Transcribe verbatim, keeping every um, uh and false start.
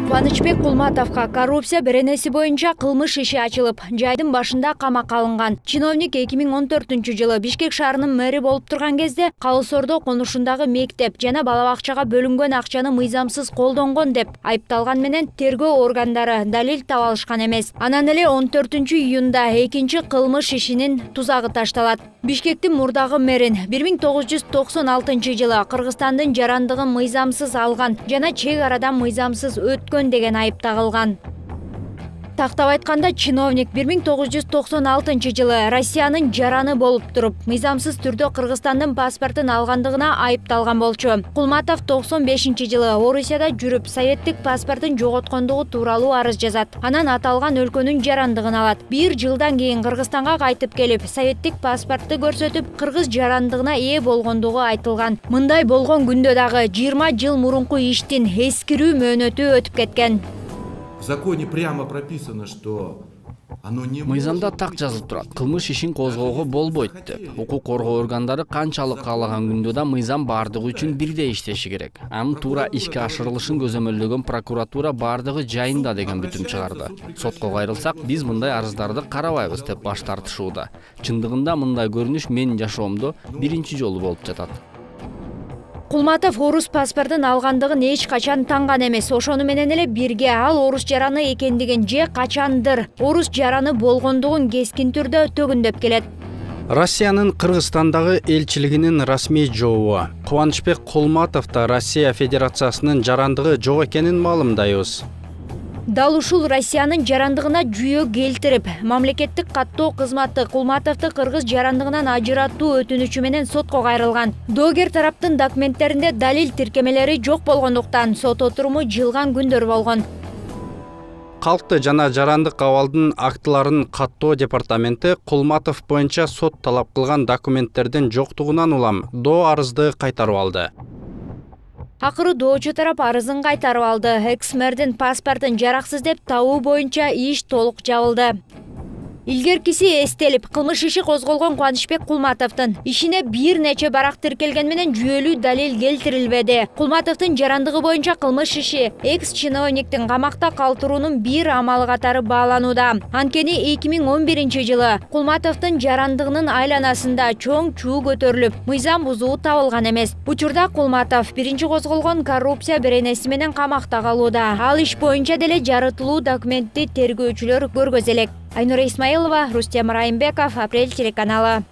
Кубанычбек Кулматовго коррупция беренеси боюнча кылмыш иши ачылып, жайдын башында камакка алынган. Чиновник эки миң он төртүнчү жылы Бишкек шаарынын мэри болуп турган кезде Калыс Ордо конушундагы мектеп жана бала бакчага бөлүнгөн акчаны мыйзамсыз колдонгон деп айыпталган менен тергөө органдары далил таба алышкан эмес. Анан эле он төртүнчү июнда экинчи кылмыш ишинин тузагы ташталат. Бишкектин мурдагы мэрин бир миң тогуз жүз токсон алтынчы жылы Кыргызстандын жарандыгын мыйзамсыз алган жана чек арадан мыйзамсыз өткөн деген айып тагылган. Тактап айтканда, чиновник бир миң тогуз жүз токсон алтынчы жылы Россиянын жараны болуп туруп, мыйзамсыз түрдө Кыргызстандын паспортун алгандыгына айыпталган болчу. Кулматов токсон бешинчи жылы Орусияда жүрүп, советтик паспортун жоготкондугу тууралуу арыз жазат. Анан аталган өлкөнүн жарандыгын алат. Бир жылдан кийин Кыргызстанга кайтып келип, советтик паспорту көрсөтүп, кыргыз жарандыгына ээ болгондугу айтылган. Мындай болгон күндө дагы жыйырма жыл мурунку иштин эскирүү мөөнөтү өтүп кеткен. В законе прямо прописано, что оно не Мыйзамда так жазылып турат. Кылмыш ишин козгоого болбойт деп. Укук коргоо органдары канчалык каалаган күндө да мыйзам бардыгы үчүн бирдей иштеши керек. Анын туура ишке ашырылышын көзөмөлдөгөн прокуратура бардыгы жайында деген бүтүм чыгарды. Сотко кайрылсак, биз мындай арыздарды карабайбыз деп баш тартышууда. Чындыгында мындай көрүнүш менин жашоомдо биринчи жолу болуп жатат. Кулматов орус паспортун алгандыгын эч качан танган эмес. Ошону менен эле бирге ал орус жараны экендигин же качандыр орус жараны болгондугун кескин түрдө төгүндөп келет. Россиянын Кыргызстандагы элчилигинин расмий жообу. Кубанычбек Кулматов да Россия Федерациясынын жарандыгы жок экенин маалымдайбыз. Дал ушул Россиянын жарандыгына жүйө келтирип, мамлекеттик каттоо кызматы Кулматовду кыргыз жарандыгынан ажыратуу өтүнүчү менен сотко кайрылган. Доогер тараптын документтеринде далил тиркемелери жок болгондуктан сот отуруму жылган күндөр болгон. Калкты жана жарандык абалдын актыларын каттоо департаменти Кулматов боюнча сот талап кылган документтердин жоктугунан улам доо арызды кайтарып алды. Акыры доочу тарап арызын кайтарып алды. Экс-мэрдин паспортун жараксыз деп табуу боюнча иш толук жабылды. Илгеркиси эстелип, кылмыш иши козголгон Кубанычбек Кулматовдун ишине бир нече барак тиркелген менен жүйөлүү далил келтирилбеди. Кулматовдун жарандыгы боюнча кылмыш иши экс-чиновниктин камакта калтыруунун бир амалы катары бааланууда. Анткени эки миң он биринчи жылы Кулматовдун жарандыгынын айланасында чоң чуу көтөрүлүп, мыйзам бузуу табылган эмес. Учурда Кулматов биринчи козголгон коррупция беренеси менен камакта калууда. Ал иш боюнча деле жарытылуу документти тергөөчүлөр көргөзө элек. Айнура Исмаилова, Рустем Райымбеков, Апрель телеканалы.